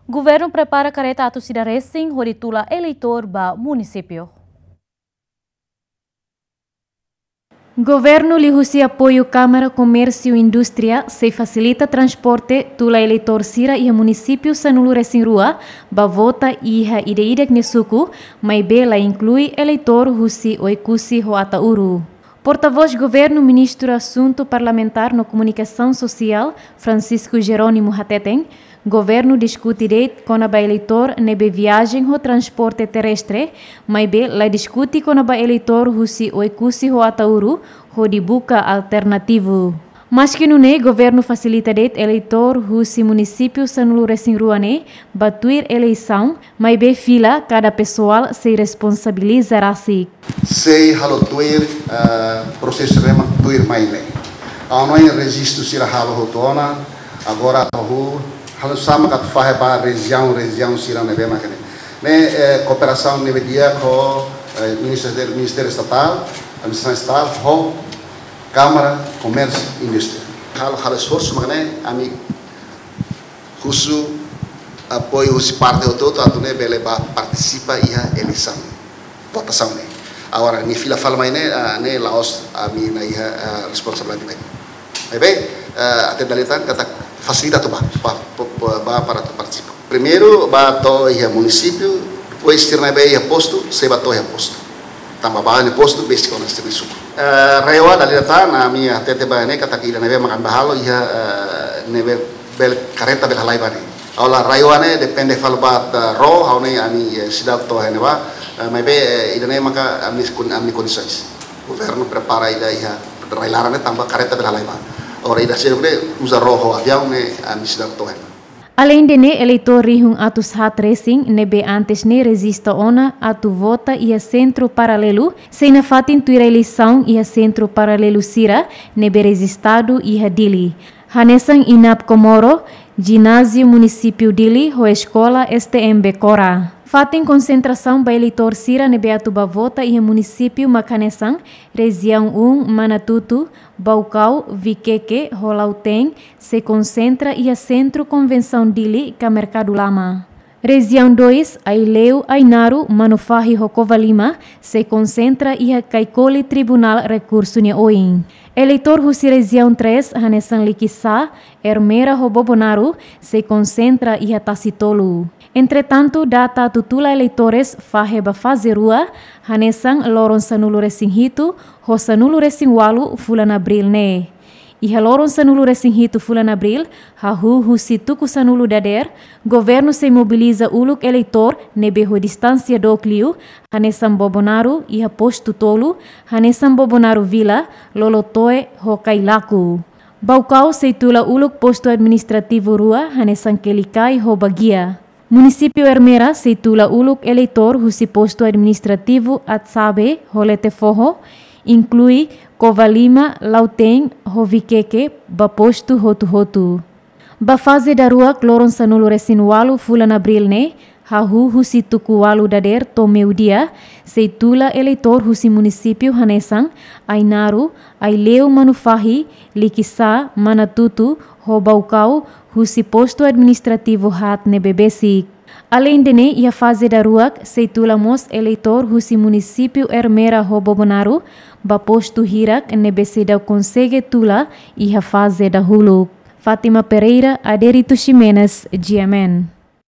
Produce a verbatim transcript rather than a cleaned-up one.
Governu prepara karreta atus ida resin hodi tula eleitór ba munisípiu. Governu liuhusi apoiu Kámara Komérsiu Indústria sei fasilita transporte tula eleitór sira iha munisípiu sanulu resin rua ba vota iha ida-idak nia suku, maibé la inklui eleitór husi Oekusi ho Ataúru. Portavós Governu, Ministru Asuntu Parlamentár no Komunikasaun Sosiál, Francisco Jerónimo hateten, governu diskute de'it kona-ba eleitór ne'ebé viajen ho transporte terrestre, maibé la diskute kona-ba eleitór husi Oekusi ho Ataúru hodi buka alternativu. Maski nune'e, governu fasilita de'it eleitór husi munisípiu sanulu resin rua ne'e ba tuir eleisaun, maibé fila kada pesoál sei responsabiliza rasik. Sei halo tuir, eh, prosesu ne'ebé mak tuirmai ne'e. Ha'u hanoin rejistu sira halo hotu ona, agora ha'u halo sama ka fahe ba rejiaun, rejiaun sira ne'ebé mak ne'e. Ne'e, eh, kooperasaun ne'ebé di'ak ho, eh, Ministériu, Ministériu Estatál, Administrasaun Estatál, ho Kámara Komérsiu Indústria. Halo, halo esforsu mak ne'e, ami husu apoiu husi parte hotu-hotu atu nune'e bele bá partisipa iha eleisaun, votasaun ne'e. Agora, nia fila fali mai ne'e, ah, ne'e la'ós ami-nia iha, ah, responsabilidade mai. Maibé, ah, até dala ida tan katak fasilita atu bá, bá, bá, bá para atu partisipa. Primeiru, bá to'o iha munisípiu, depois sira ne'ebé iha postu, sei bá to'o iha postu. Tanba bá iha postu, besik ona sira-nia suku. Eh, RAEOA dala ida tan, ami hatete ba ne'e katak ida ne'ebé mak ami bá halo iha, eh, ne'ebé bele karreta bele halai bá ne'e. Ha'u halo RAEOA ne'e depende fali ba, eh, ró, ha'u ne'e ami, eh, seidauk to'o iha ne'ebá, eh, maibé, eh, ida ne'e maka ami kon-, ami-nia kondisoens. Governu prepara ida iha rai-laran ne'e tanba karreta bele halai bá. Agora ida seluk ne'e uza ró ho aviaun ne'e ami seidauk to'o iha ne'ebá. Aleinde ne'e, eleitór rihun atus haat resin ne'ebé antes ne'e rejista ona atu vota iha sentru paralelu, sei nafatin tuir eleisaun iha sentru paralelu sira ne'ebé rejistadu iha Dili. Hanesan INAP Comoro, Jináziu Munisípiu Dili ho Eskola S T M Becora. Fatin konsentrasaun ba eleitór sira ne'ebé atu bá vota iha munisípiu mak hanesan, Rejiaun um, Manatuto, Baucau, Viqueque ho Lautém, sei konsentra iha Sentru Konvensaun Dili ka Merkadu Lama. Rejiaun dois, Aileu, Ainaro, Manufahi ho Covalima, sei konsentra iha Caicoli Tribunál Rekursu nia oin. Eleitór husi Rejiaun três, hanesan Likisá, Ermera ho Bobonaro, sei konsentra iha Tasitolu. Entretantu, data atu tula eleitores fahe ba faze rua, hanesan loron sanulu resin hitu ho sanulu resin ualu fulan Abríl ne'e. Iha loron sanulu resin hitu fulan Abríl, hahú husi tuku sanulu dadeer, governu sei mobiliza uluk eleitór ne'ebé ho distánsia dook liu, hanesan Bobonaro iha postu tolu, hanesan Bobonaro Vila, Lolotoe ho Cailaco. Baucau sei tula uluk postu administrativu rua, hanesan Quelicai ho Baguia. Munisípiu Ermera sei tula uluk eleitór husi postu administrativu Atsabe ho Letefoho, inklui Covalima, Lautém ho Viqueque ba postu hotu-hotu. Ba faze daruak, loron sanulu resin ualu fulan Abríl ne'e, hahú husi tuku ualu dadeer to'o meiudia, sei tula eleitór husi munisípiu hanesan Ainaro, Aileu, Manufahi, Likisá, Manatuto ho Baucau, husi postu administrativu haat ne'ebé besik. Aleinde ne'e, iha faze daruak, sei tula mós eleitór husi munisípiu Ermera ho Bobonaro ba postu hirak ne'ebé seidauk konsege tula iha faze dahuluk. Fátima Pereira, Adérito Ximenes, G M N.